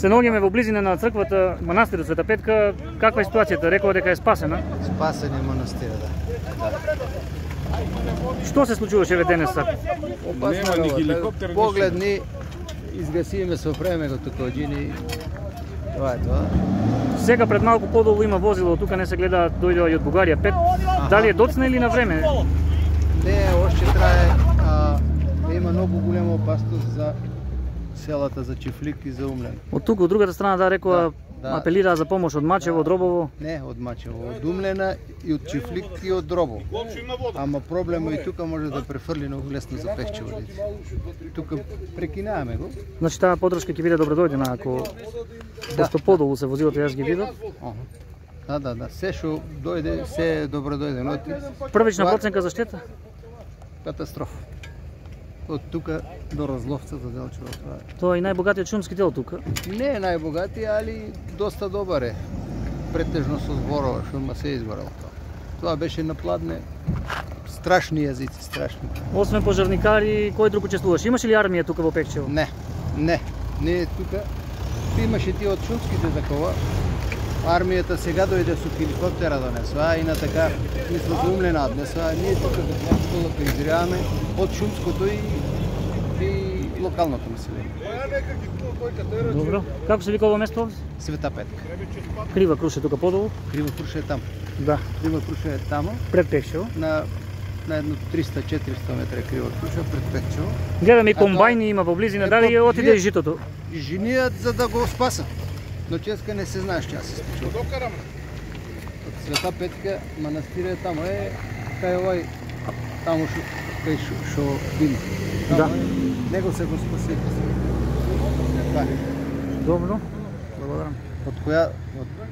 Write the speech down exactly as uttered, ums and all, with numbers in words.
Се наоѓаме во близина на црквата, манастирот Света Петка. Каква е ситуацијата? Рекова дека е спасена. Спасен е манастирот, да. Што се случуваше ве денес? Опасна работа. Погледни, изгасиме со времето тука оđини. Това е тоа. Сега пред малку подолу има возило, тука не се гледа, дојдоа и од Бугарија пет. Дали е доцна или на време? Не, още трае, а, има многу голема опасност за селата, за Чифлик и за Умлен. Од тука, од другата страна, да, рекоа, да, да. Апелираа за помош од Мачево, од Дробово. Не, од Мачево, од Умлена и од Чифлик и од Дробово. Ама проблемот и тука може да префрли многу лесно за Пехчево. Тука прекинаваме го. Значи таа подршка ќе биде добродојдена ако да. Пошто подолу се возилото јас ги видов. Да, да, да, се што дојде, се е добродојдено. Првична проценка за штета? Катастрофа. Од тука до Разловца за Делчево. Това е. Тоа е и најбогатиот шумски дел тука. Не е најбогати, али доста добар е. Претежно со зборова, шума се изгорел тоа. Тоа беше на пладне. Страшни јазици, страшни. Освен пожарникари, кој друг учествуваше? Имаше ли армија тука во Пехчево? Не, не. Не тука. Имаше ти од шумските такова. Армијата сега дојде со хеликоптера донесува, и на така мисля за Умлена однесува. Ние тука за Плачколата изгреваме од шумското и, и локалното население. Добро. Како се вика ова место овде? Света Петка. Крива Круша тука подолу? Крива Круша е таму. Да. Крива Круша е таму. Пред Пехчево? На на едно триста-четириста метра Крива Круша пред Пехчево. Гледам и комбајни има во близина, дали отиде и житото? Женијат за да го спасат. Но ческа не се знаеш што се случува. Од Света Петка манастир е таму е кај овај таму шо кај шо има. Да. Него се го спаси. Добро. Благодарам. Од која од